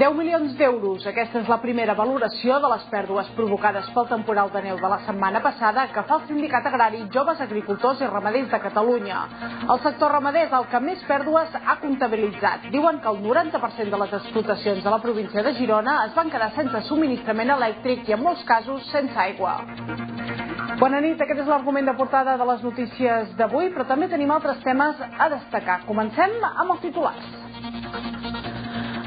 10 milions d'euros. Aquesta és la primera valoració de les pèrdues provocades pel temporal de neu de la setmana passada que fa el Sindicat Agrari Joves Agricultors i Ramaders de Catalunya. El sector ramader és el que més pèrdues ha comptabilitzat. Diuen que el 90% de les explotacions de la província de Girona es van quedar sense subministrament elèctric i en molts casos sense aigua. Bona nit, aquest és l'argument de portada de les notícies d'avui, però també tenim altres temes a destacar. Comencem amb els titulars.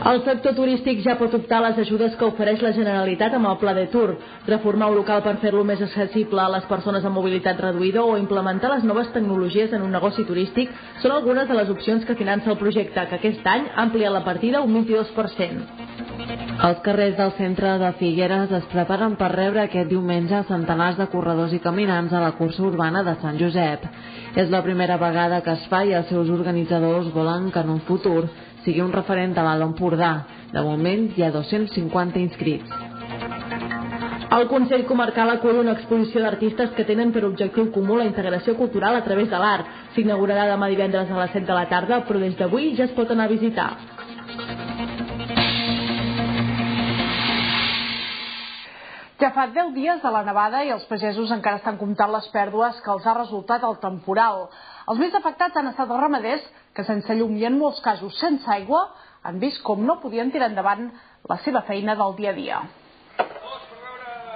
El sector turístic ja pot optar a les ajudes que ofereix la Generalitat amb el Pla de Tour. Reformar un local per fer-lo més accessible a les persones amb mobilitat reduïda o implementar les noves tecnologies en un negoci turístic són algunes de les opcions que finança el projecte, que aquest any ha ampliat la partida un 22%. Els carrers del centre de Figueres es preparen per rebre aquest diumenge centenars de corredors i caminants a la cursa urbana de Sant Josep. És la primera vegada que es fa i els seus organitzadors volen que en un futur sigui un referent de l'Alt Empordà. De moment hi ha 250 inscrits. El Consell Comarcal acull una exposició d'artistes que tenen per objectiu comú la integració cultural a través de l'art. S'inaugurarà demà divendres a les 7 de la tarda, però des d'avui ja es pot anar a visitar. Ja fa 10 dies de la nevada i els pagesos encara estan comptant les pèrdues que els ha resultat el temporal. Els més afectats han estat els ramaders, que sense llum i en molts casos sense aigua, han vist com no podien tirar endavant la seva feina del dia a dia.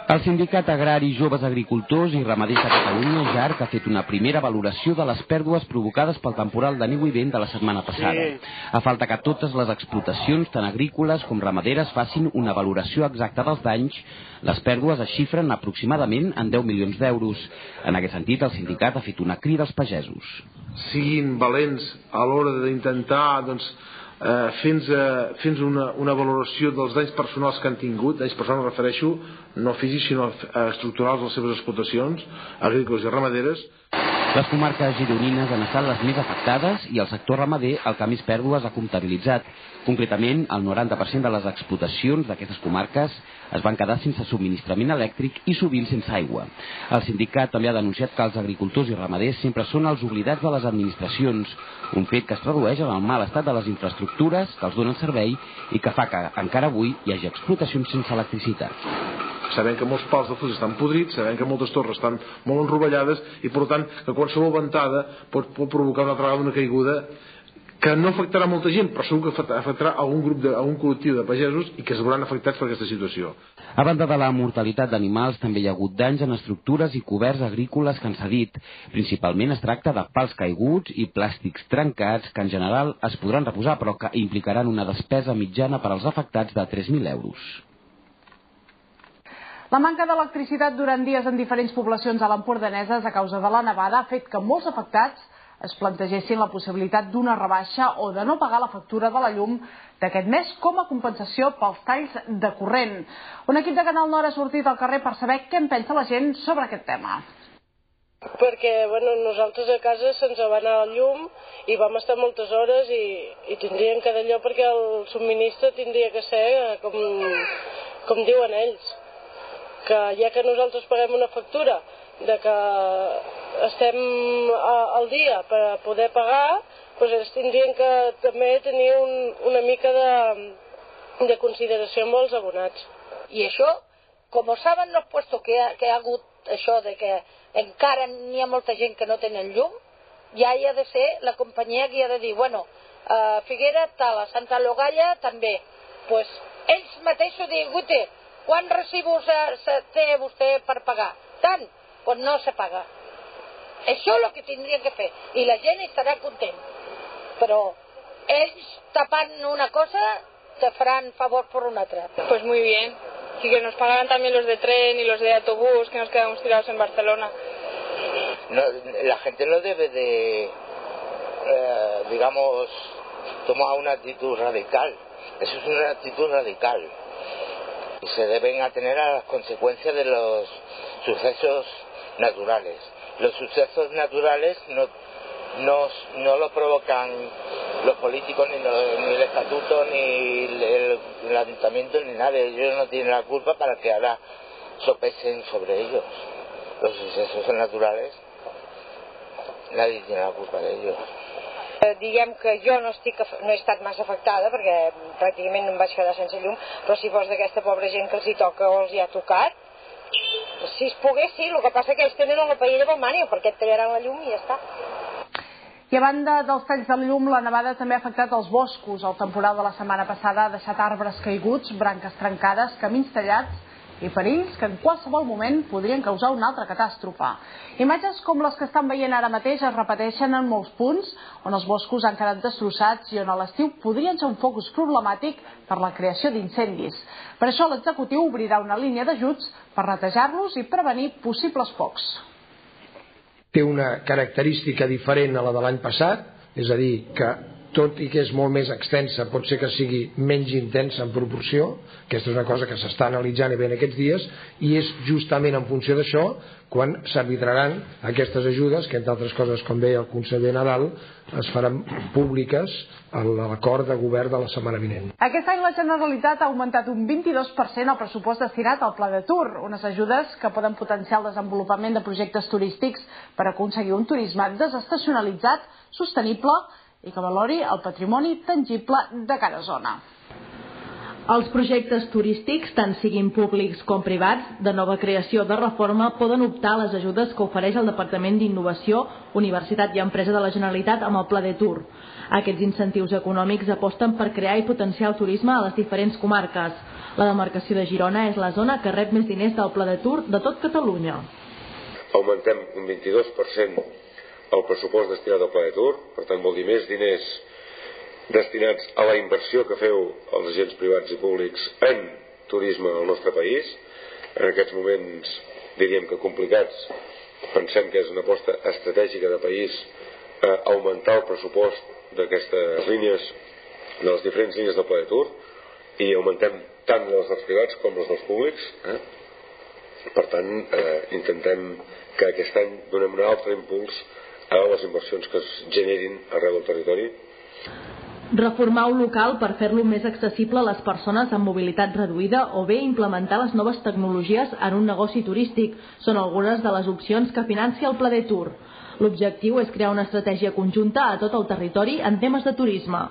El Sindicat Agrari Joves Agricultors i Ramaders de Catalunya, JARC, ha fet una primera valoració de les pèrdues provocades pel temporal de neu i vent de la setmana passada. A falta que totes les explotacions, tant agrícoles com ramaderes, facin una valoració exacta dels danys, les pèrdues es xifren aproximadament en 10 milions d'euros. En aquest sentit, el sindicat ha fet una crida als pagesos. Siguin valents a l'hora d'intentar, fent una valoració dels danys personals que han tingut. Danys personals refereixo no físics sinó estructurals de les seves explotacions agrícoles i ramaderes. Les comarques gironines han estat les més afectades i el sector ramader el que més pèrdues ha comptabilitzat. Concretament, el 90% de les explotacions d'aquestes comarques es van quedar sense subministrament elèctric i sovint sense aigua. El sindicat també ha denunciat que els agricultors i ramaders sempre són els oblidats de les administracions, un fet que es tradueix en el mal estat de les infraestructures que els donen servei i que fa que encara avui hi hagi explotacions sense electricitat. Sabem que molts pals de fusta estan podrits, sabem que moltes torres estan molt enrovellades i per tant que qualsevol ventada pot provocar una altra vegada una caiguda que no afectarà molta gent, però segur que afectarà algun col·lectiu de pagesos i que es veuran afectats per aquesta situació. A banda de la mortalitat d'animals, també hi ha hagut danys en estructures i coberts agrícoles que han cedit. Principalment es tracta de pals caiguts i plàstics trencats que en general es podran reposar però que implicaran una despesa mitjana per als afectats de 3.000 euros. La manca d'electricitat durant dies en diferents poblacions a l'Empordaneses a causa de la nevada ha fet que molts afectats es plantegessin la possibilitat d'una rebaixa o de no pagar la factura de la llum d'aquest mes com a compensació pels talls de corrent. Un equip de Canal Nord ha sortit al carrer per saber què en pensa la gent sobre aquest tema. Perquè nosaltres a casa se'ns va anar el llum i vam estar moltes hores i tindrien que d'allò perquè el subministre tindria que ser com diuen ells. Que ja que nosaltres paguem una factura de que estem al dia per poder pagar, doncs ells tindrien que també tenir una mica de consideració amb els abonats. I això, com saben los puestos que ha hagut això de que encara n'hi ha molta gent que no tenen llum, ja hi ha de ser la companyia que ha de dir, bueno, Figuera tal, a Santa Logalla també. Pues ells mateixos diuen, guite, quants recibos té vostè per pagar? Tant, doncs no se paga. Això és el que tindrien que fer i la gent estarà content. Però ells tapant una cosa te faran favor por una otra. Pues muy bien. Y que nos pagaran también los de tren y los de autobús, que nos quedamos tirados en Barcelona. No, la gente no debe de, digamos, tomar una actitud radical. Eso es una actitud radical. Y se deben atener a las consecuencias de los sucesos naturales. Los sucesos naturales no lo provocan los políticos, ni el estatuto, ni el ayuntamiento, ni nadie. Ellos no tienen la culpa para que ahora sopesen sobre ellos. Los sucesos naturales, nadie tiene la culpa de ellos. Diguem que jo no he estat massa afectada perquè pràcticament no em vaig quedar sense llum, però si fos d'aquesta pobra gent que els hi toca o els hi ha tocat, si es pogués sí, el que passa que ells tenen la paella pel mànio perquè et tallaran la llum i ja està. I a banda dels talls de llum, la nevada també ha afectat els boscos. El temporal de la setmana passada ha deixat arbres caiguts, branques trencades, camins tallats i perills que en qualsevol moment podrien causar una altra catàstrofe. Imatges com les que estan veient ara mateix es repeteixen en molts punts on els boscos han quedat destrossats i on a l'estiu podrien ser un focus problemàtic per la creació d'incendis. Per això l'executiu obrirà una línia d'ajuts per netejar-los i prevenir possibles focs. Té una característica diferent a la de l'any passat, és a dir, que tot i que és molt més extensa, pot ser que sigui menys intensa en proporció. Aquesta és una cosa que s'està analitzant i bé en aquests dies, i és justament en funció d'això quan s'arbitraran aquestes ajudes, que entre altres coses, com deia el conseller Nadal, es faran públiques a l'acord de govern de la setmana vinent. Aquest any la Generalitat ha augmentat un 22% el pressupost destinat al Pla de Tour, unes ajudes que poden potenciar el desenvolupament de projectes turístics per aconseguir un turisme desestacionalitzat, sostenible i que valori el patrimoni tangible de cada zona. Els projectes turístics, tant siguin públics com privats, de nova creació o de reforma, poden optar a les ajudes que ofereix el Departament d'Innovació, Universitat i Empresa de la Generalitat amb el Pla de Tour. Aquests incentius econòmics aposten per crear i potenciar el turisme a les diferents comarques. La demarcació de Girona és la zona que rep més diners del Pla de Tour de tot Catalunya. Augmentem un 22% el pressupost destinat al Pla de Tour, per tant vol dir més diners destinats a la inversió que feu els agents privats i públics en turisme al nostre país. En aquests moments, diríem que complicats, pensem que és una aposta estratègica de país augmentar el pressupost d'aquestes línies, de les diferents línies del Pla de Tour, i augmentem tant les dels privats com les dels públics. Per tant, intentem que aquest any donem un altre impuls a les inversions que es generin arreu del territori. Reformar un local per fer-lo més accessible a les persones amb mobilitat reduïda o bé implementar les noves tecnologies en un negoci turístic són algunes de les opcions que financia el Pla de Tour. L'objectiu és crear una estratègia conjunta a tot el territori en temes de turisme.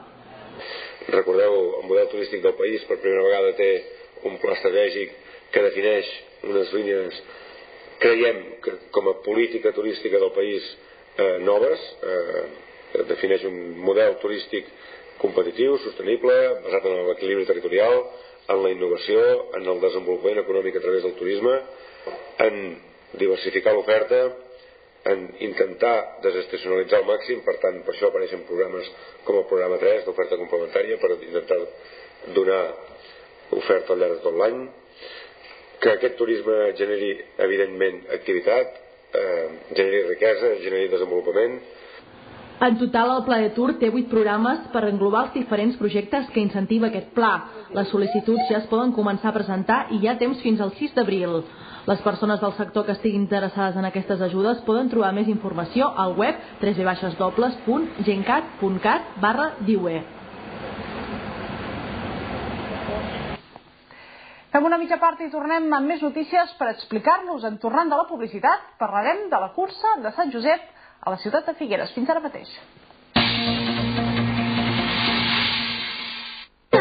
Recordeu, el model turístic del país per primera vegada té un pla estratègic que defineix unes línies, creiem que com a política turística del país noves, defineix un model turístic competitiu, sostenible, basat en l'equilibri territorial, en la innovació, en el desenvolupament econòmic a través del turisme, en diversificar l'oferta, en intentar desestacionalitzar al màxim. Per tant, per això apareixen programes com el programa 3 d'oferta complementària per intentar donar oferta al llarg de tot l'any, que aquest turisme generi evidentment activitat, generi riquesa, generi desenvolupament. En total, el Pla de Tour té 8 programes per englobar els diferents projectes que incentiva aquest pla. Les sol·licituds ja es poden començar a presentar i hi ha temps fins al 6 d'abril. Les persones del sector que estiguin interessades en aquestes ajudes poden trobar més informació al web www.gencat.cat/diue. Fem una mitja part i tornem amb més notícies per explicar-nos. En tornant de la publicitat, parlarem de la cursa de Sant Josep a la ciutat de Figueres. Fins ara mateix.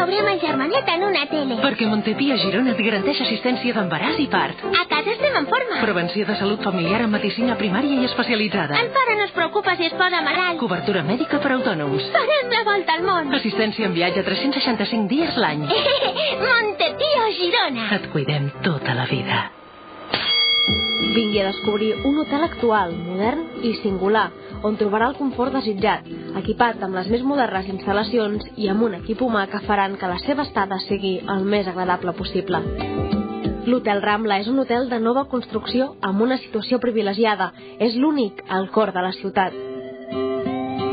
Obrim el germanet en una tele. Perquè Montepí a Girona et garanteix assistència d'embaràs i part. A casa estem en forma. Prevenció de salut familiar amb medicina primària i especialitzada. El pare no es preocupa si es posa malalt. Cobertura mèdica per autònoms. Farem la volta al món. Assistència en viatge 365 dies l'any. Montepí a Girona. Et cuidem tota la vida. Vingui a descobrir un hotel actual, modern i singular, on trobarà el confort desitjat, equipat amb les més modernes instal·lacions i amb un equip humà que faran que la seva estada sigui el més agradable possible. L'Hotel Rambla és un hotel de nova construcció amb una situació privilegiada. És l'únic al cor de la ciutat.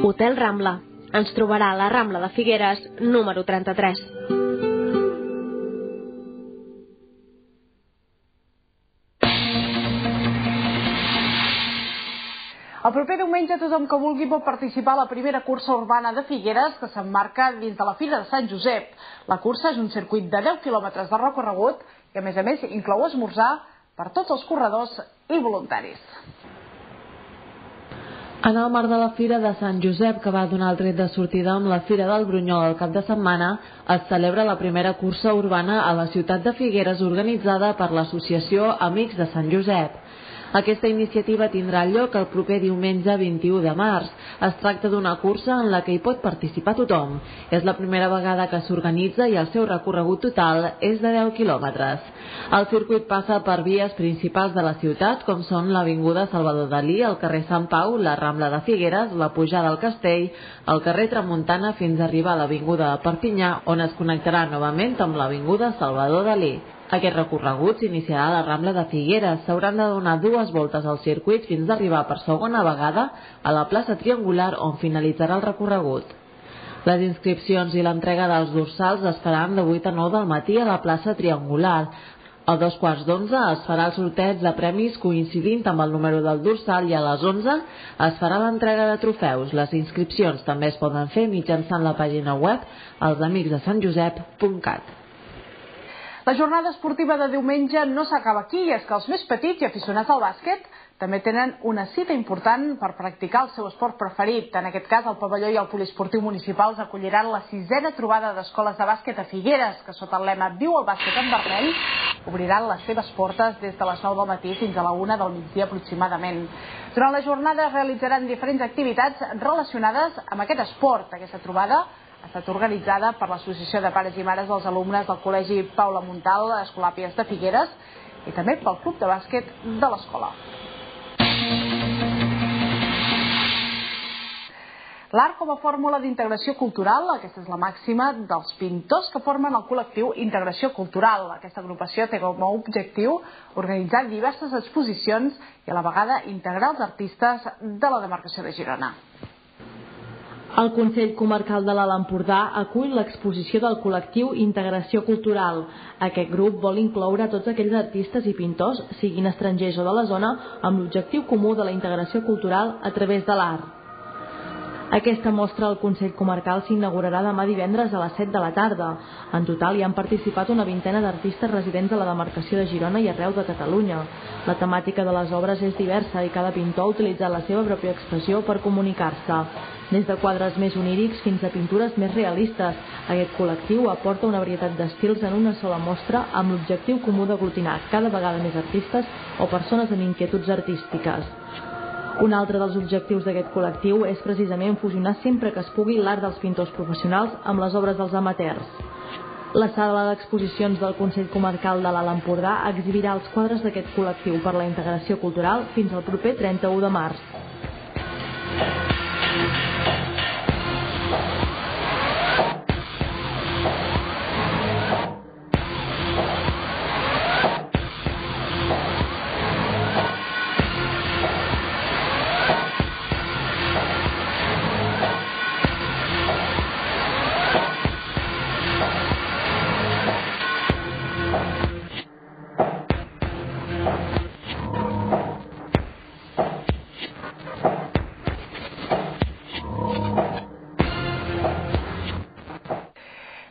Hotel Rambla. Ens trobarà a la Rambla de Figueres, número 33. El proper diumenge tothom que vulgui pot participar a la primera cursa urbana de Figueres que s'emmarca dins de la Fira de Sant Josep. La cursa és un circuit de 10 quilòmetres de recorregut i a més inclou esmorzar per tots els corredors i voluntaris. En el marc de la Fira de Sant Josep, que va donar el tret de sortida amb la Fira del Brunyol el cap de setmana, es celebra la primera cursa urbana a la ciutat de Figueres organitzada per l'associació Amics de Sant Josep. Aquesta iniciativa tindrà lloc el proper diumenge 21 de març. Es tracta d'una cursa en la que hi pot participar tothom. És la primera vegada que s'organitza i el seu recorregut total és de 10 quilòmetres. El circuit passa per vies principals de la ciutat, com són l'Avinguda Salvador Dalí, el carrer Sant Pau, la Rambla de Figueres, la Pujada al Castell, el carrer Tramuntana fins a arribar a l'Avinguda de Perpinyà, on es connectarà novament amb l'Avinguda Salvador Dalí. Aquest recorregut s'iniciarà a la Rambla de Figueres. S'hauran de donar 2 voltes al circuit fins a arribar per segona vegada a la plaça Triangular, on finalitzarà el recorregut. Les inscripcions i l'entrega dels dorsals es faran de 8 a 9 del matí a la plaça Triangular. A 11:15 es farà el sorteig de premis coincidint amb el número del dorsal i a les 11 es farà l'entrega de trofeus. Les inscripcions també es poden fer mitjançant la pàgina web elsamicsdeSantJosep.cat. La jornada esportiva de diumenge no s'acaba aquí, i és que els més petits i aficionats al bàsquet també tenen una cita important per practicar el seu esport preferit. En aquest cas, el pavelló i el poliesportiu municipals acolliran la 6a trobada d'escoles de bàsquet a Figueres, que sota el lema Viu el bàsquet en vermell obriran les seves portes des de les 9 del matí fins a la 1 del migdia aproximadament. Durant la jornada es realitzaran diferents activitats relacionades amb aquest esport. Aquesta trobada ha estat organitzada per l'Associació de Pares i Mares dels Alumnes del Col·legi Paula Montal, Escolàpies de Figueres, i també pel Club de Bàsquet de l'escola. L'art com a fórmula d'integració cultural, aquesta és la màxima dels pintors que formen el col·lectiu Integració Cultural. Aquesta agrupació té com a objectiu organitzar diverses exposicions i a la vegada integrar els artistes de la demarcació de Girona. El Consell Comarcal de l'Alt Empordà acull l'exposició del col·lectiu Integració Cultural. Aquest grup vol incloure tots aquells artistes i pintors, siguin estrangers o de la zona, amb l'objectiu comú de la integració cultural a través de l'art. Aquesta mostra al Consell Comarcal s'inaugurarà demà divendres a les 7 de la tarda. En total hi han participat una vintena d'artistes residents a la demarcació de Girona i arreu de Catalunya. La temàtica de les obres és diversa i cada pintor ha utilitzat la seva pròpia expressió per comunicar-se. Des de quadres més onírics fins a pintures més realistes, aquest col·lectiu aporta una varietat d'estils en una sola mostra amb l'objectiu comú d'aglutinar cada vegada més artistes o persones amb inquietuds artístiques. Un altre dels objectius d'aquest col·lectiu és precisament fusionar sempre que es pugui l'art dels pintors professionals amb les obres dels amateurs. La sala d'exposicions del Consell Comarcal de l'Alt Empordà exhibirà els quadres d'aquest col·lectiu per la integració cultural fins al proper 31 de març.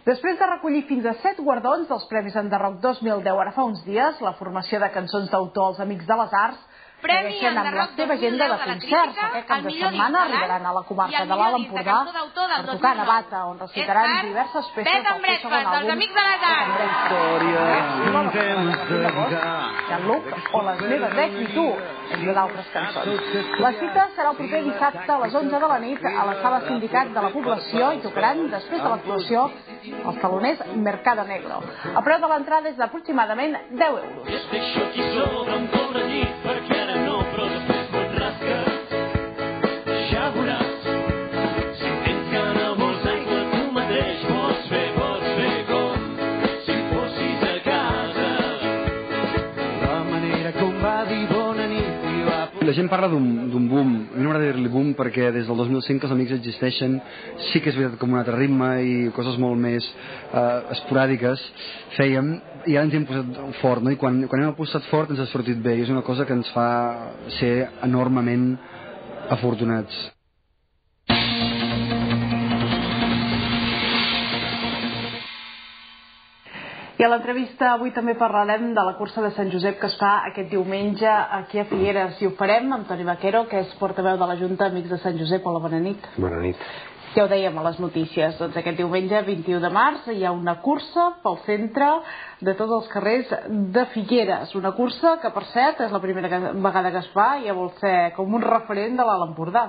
Després de recollir fins a 7 guardons dels Premis Enderroc 2010 ara fa uns dies, la formació de cançons d'autor als Amics de les Arts segueixen amb la seva agenda de concerts. Aquest cap de setmana arribaran a la comarca de l'Alt Empordà per tocar a Navata, on recitaran diverses peces del seu segon àlbum, Luc o Les meves ex i tu, entre d'altres cançons. La cita serà el proper dissabte a les 11 de la nit a la sala Sindicat de la Població i tocaran, després de l'actuació, els taloners Mercado Negro. El preu de l'entrada és d'aproximadament 10 euros. La gent parla d'un boom. A mi no m'agrada dir-li boom perquè des del 2005 que els Amics existeixen, sí que és veritat com un altre ritme i coses molt més esporàdiques fèiem, i ara ens hem posat fort, no? I quan hem posat fort ens ha sortit bé, i és una cosa que ens fa ser enormement afortunats. I I a l'entrevista avui també parlarem de la cursa de Sant Josep que es fa aquest diumenge aquí a Figueres i ho farem amb Toni Vaquero, que és portaveu de la Junta Amics de Sant Josep. Hola, bona nit. Bona nit. Ja ho dèiem a les notícies, doncs aquest diumenge 21 de març hi ha una cursa pel centre de tots els carrers de Figueres, una cursa que per cert és la primera vegada que es fa i ja vol ser com un referent de l'Alt Empordà.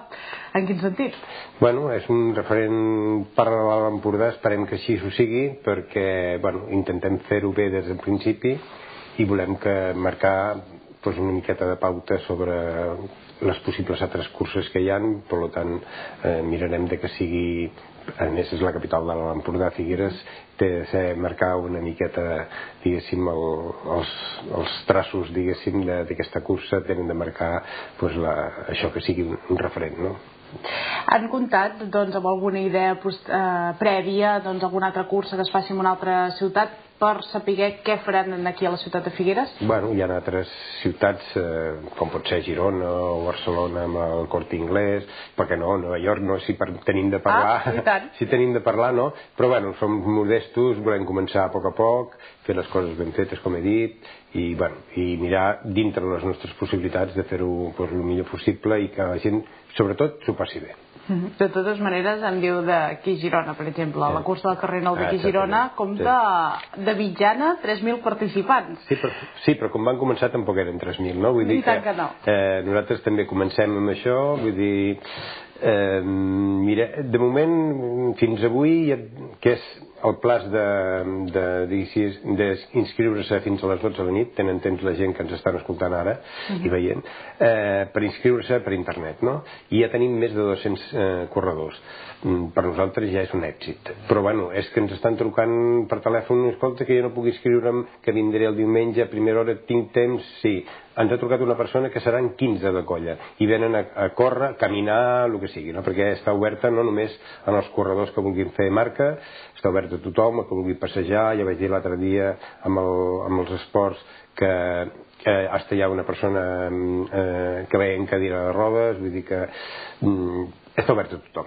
En quin sentit? Bueno, és un referent per a l'Alt Empordà, esperem que així ho sigui, perquè intentem fer-ho bé des del principi i volem marcar una miqueta de pauta sobre les possibles altres curses que hi ha, per tant mirarem de que sigui, a més és la capital de l'Alt Empordà, Figueres, té de ser marcar una miqueta, diguéssim, els traços, diguéssim, d'aquesta cursa tenen de marcar això que sigui un referent, no? Han comptat doncs, amb alguna idea prèvia, alguna altra cursa que es faci en una altra ciutat per saber què faran aquí a la ciutat de Figueres? Bueno, hi ha altres ciutats com pot ser Girona o Barcelona amb el Corte Inglés, perquè no, Nova York no, si tenim de parlar, si tenim de parlar no, però bueno, som modestos, volem començar a poc, fer les coses ben fetes com he dit i mirar dintre les nostres possibilitats de fer-ho el millor possible i que la gent sobretot s'ho passi bé. De totes maneres, em diu d'aquí Girona, per exemple, la cursa del carrer Nou d'aquí Girona compta de mitjana 3.000 participants. Sí, però com van començar tampoc eren 3.000, no? Vull dir que nosaltres també comencem amb això, vull dir, mira, de moment, fins avui, que és el plaç d'inscriure-se fins a les 12 de la nit, tenen temps la gent que ens estan escoltant ara i veient, per inscriure-se per internet, no? I ja tenim més de 200 corredors. Per nosaltres ja és un èxit. Però bueno, és que ens estan trucant per telèfon, escolta, que jo no puc inscriure'm, que vindré el diumenge a primera hora, tinc temps, sí. Ens ha trucat una persona que seran 15 de colla i venen a córrer, caminar, el que sigui, no? Perquè està oberta no només en els corredors que vulguin fer marca, està oberta a tothom, que vulgui passejar. Ja vaig dir l'altre dia amb els esports que hasta hi ha una persona que ve en cadira de rodes, vull dir que està obert a tothom,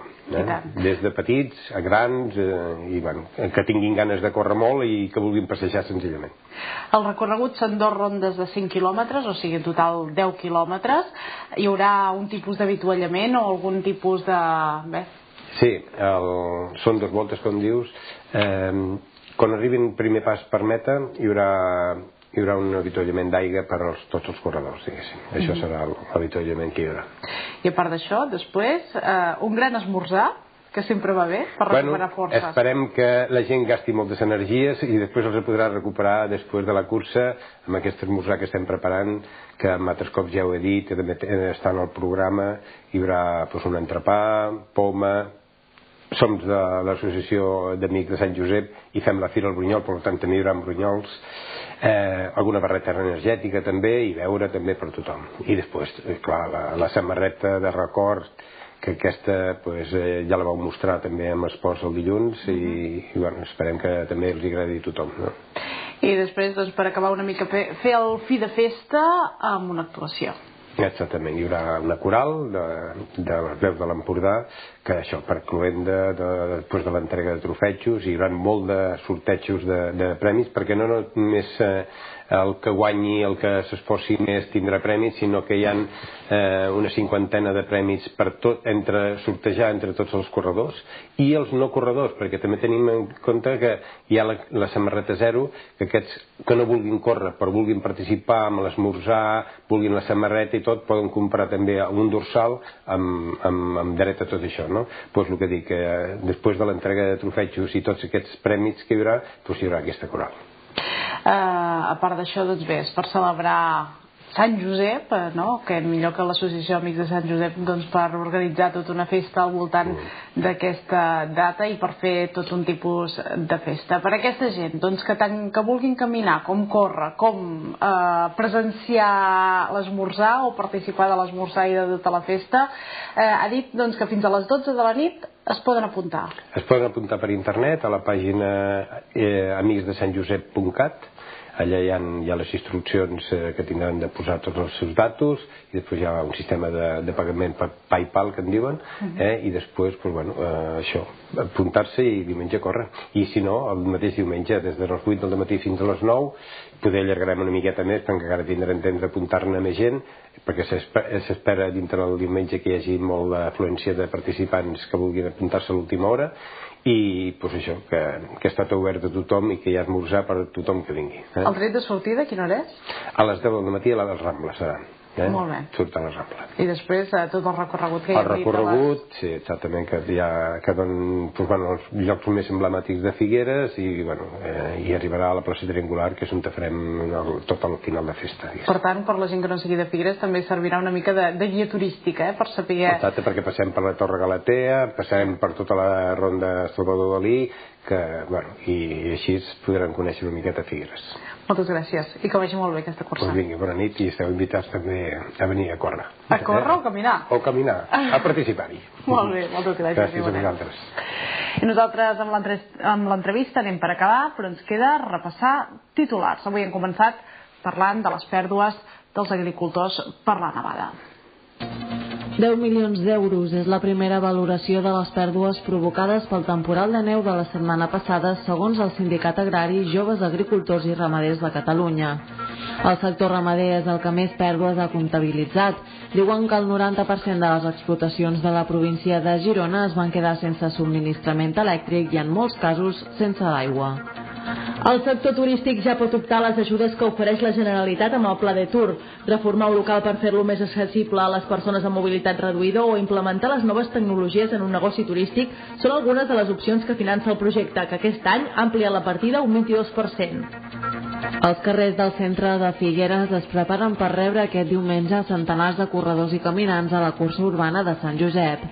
des de petits a grans i que tinguin ganes de córrer molt i que vulguin passejar senzillament. El recorregut són 2 rondes de 5 quilòmetres, o sigui en total 10 quilòmetres. Hi haurà un tipus d'avituallament o algun tipus de... Sí, són 2 voltes, com dius. Quan arribin primer pas per meta hi haurà un avituallament d'aigua per a tots els corredors, diguéssim. Això serà l'avituallament que hi haurà. I a part d'això, després, un gran esmorzar, que sempre va bé, per recuperar forces. Esperem que la gent gasti moltes energies i després els podrà recuperar després de la cursa amb aquest esmorzar que estem preparant, que amb altres cops ja ho he dit, també està en el programa. Hi haurà un entrepà, poma. Som de l'associació d'Amics de Sant Josep i fem la Fira al Brunyol, per tant també hi haurà brunyols, alguna barreta energètica també i beure també per tothom. I després, clar, la samarreta de record, que aquesta ja la vau mostrar també amb esports el dilluns i esperem que també els agradi a tothom. I després, per acabar una mica, fer el fi de festa amb una actuació. Exactament, hi haurà una coral de les veus de l'Empordà que això, per cloenda, després de l'entrega de trofejos, hi haurà molt de sortejos de premis, perquè no només el que guanyi, el que s'esforci més tindrà premis, sinó que hi ha una 50ena de premis per sortejar entre tots els corredors i els no corredors, perquè també tenim en compte que hi ha la samarreta zero, que aquests que no vulguin córrer però vulguin participar amb l'esmorzar, vulguin la samarreta i tot, poden comprar també un dorsal amb dret a tot això, no? Doncs el que dic, després de l'entrega de trofejos i tots aquests premis que hi haurà, doncs hi haurà aquesta coral. A part d'això, doncs bé, és per celebrar Sant Josep, que millor que l'associació Amics de Sant Josep per organitzar tota una festa al voltant d'aquesta data i per fer tot un tipus de festa. Per a aquesta gent que vulguin caminar, com córrer, com presenciar l'esmorzar o participar de l'esmorzar i de tota la festa, ha dit que fins a les 12 de la nit es poden apuntar. Es poden apuntar per internet a la pàgina amicsdesantjosep.cat. allà hi ha les instruccions que tindran de posar tots els seus datos, i després hi ha un sistema de pagament per PayPal, que en diuen, i després, això, apuntar-se i diumenge córrer. I si no, el mateix diumenge, des de les 8 del matí fins a les 9, poder allargarem una miqueta més, perquè encara tindrem temps d'apuntar-ne més gent, perquè s'espera dintre del diumenge que hi hagi molt d'afluència de participants que vulguin apuntar-se a l'última hora, i això, que està tot obert a tothom i que hi ha esmorzar per a tothom que vingui. El tret de sortida, quina hora és? A les 10 del matí a les Rambles serà. Molt bé. Surt a la Rambla. I després tot el recorregut que hi ha. El recorregut, sí, exactament, que donen els llocs més emblemàtics de Figueres, i arribarà a la plaça Triangular, que és on farem tot al final de festa. Per tant, per la gent que no sigui de Figueres també servirà una mica de guia turística, per saber... Exacte, perquè passem per la Torre Galatea, passem per tota la ronda Salvador Dalí, i així podran conèixer una miqueta Figueres. Moltes gràcies, i que vagi molt bé aquesta cursa. Doncs vinga, bona nit, i esteu invitats també a venir a córrer. A córrer o a caminar? O a caminar, a participar-hi. Molt bé, moltes gràcies. Gràcies a vosaltres. I nosaltres amb l'entrevista anem per acabar, però ens queda repassar titulars. Avui hem començat parlant de les pèrdues dels agricultors per la nevada. 10 milions d'euros és la primera valoració de les pèrdues provocades pel temporal de neu de la setmana passada, segons el Sindicat Agrari Joves Agricultors i Ramaders de Catalunya. El sector ramader és el que més pèrdues ha comptabilitzat. Diuen que el 90% de les explotacions de la província de Girona es van quedar sense subministrament elèctric i en molts casos sense aigua. El sector turístic ja pot optar a les ajudes que ofereix la Generalitat amb el Pla de Tour. Reformar un local per fer-lo més accessible a les persones amb mobilitat reduïda o implementar les noves tecnologies en un negoci turístic són algunes de les opcions que finança el projecte, que aquest any ha ampliat la partida un 22%. Els carrers del centre de Figueres es preparen per rebre aquest diumenge centenars de corredors i caminants a la cursa urbana de Sant Josep.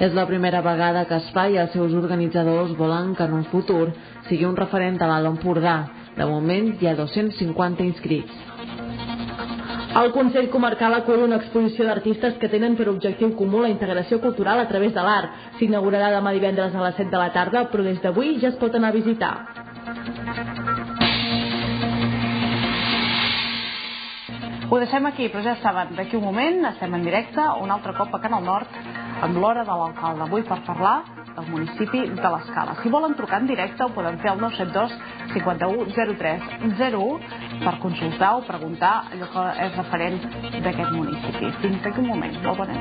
És la primera vegada que es fa i els seus organitzadors volen que en un futur sigui un referent a l'Alt Empordà. De moment hi ha 250 inscrits. El Consell Comarcal acull una exposició d'artistes que tenen per objectiu comú la integració cultural a través de l'art. S'inaugurarà demà divendres a les 7 de la tarda, però des d'avui ja es pot anar a visitar. Ho deixem aquí, però ja saben, d'aquí un moment estem en directe, un altre cop a Canal Nord, amb l'hora de l'alcalde, avui per parlar del municipi de l'Escala. Si volen trucar en directe ho poden fer al 972 51 03 01 per consultar o preguntar allò que és referent d'aquest municipi. Fins d'aquí un moment. Molt bona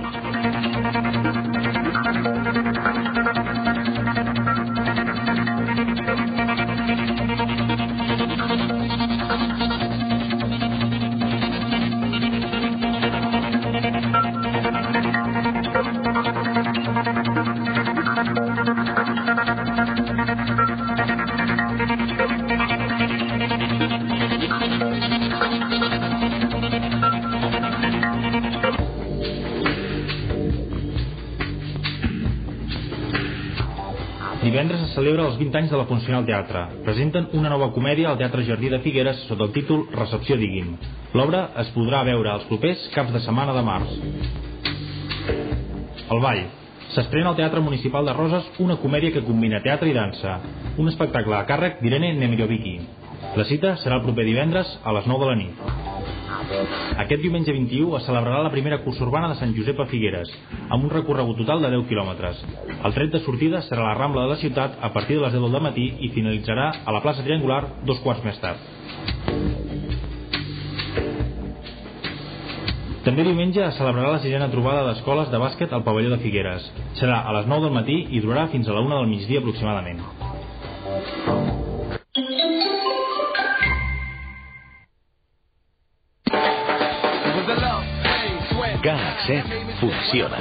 Divendres es celebra els 20 anys de la Funcional Teatre. Presenten una nova comèdia al Teatre Jardí de Figueres sota el títol Recepció digui'm. L'obra es podrà veure els propers caps de setmana de març. El Ball. S'estrena al Teatre Municipal de Roses una comèdia que combina teatre i dansa. Un espectacle a càrrec d'Irene Nemirovicki. La cita serà el proper divendres a les 9 de la nit. Aquest diumenge 21 es celebrarà la primera cursa urbana de Sant Josep a Figueres, amb un recorregut total de 10 quilòmetres. El tret de sortida serà la Rambla de la ciutat a partir de les 10 del matí i finalitzarà a la plaça Triangular 2 quarts més tard. També diumenge es celebrarà la 6a trobada d'escoles de bàsquet al pavelló de Figueres. Serà a les 9 del matí i durarà fins a la 1 del migdia aproximadament. Galaxet funciona.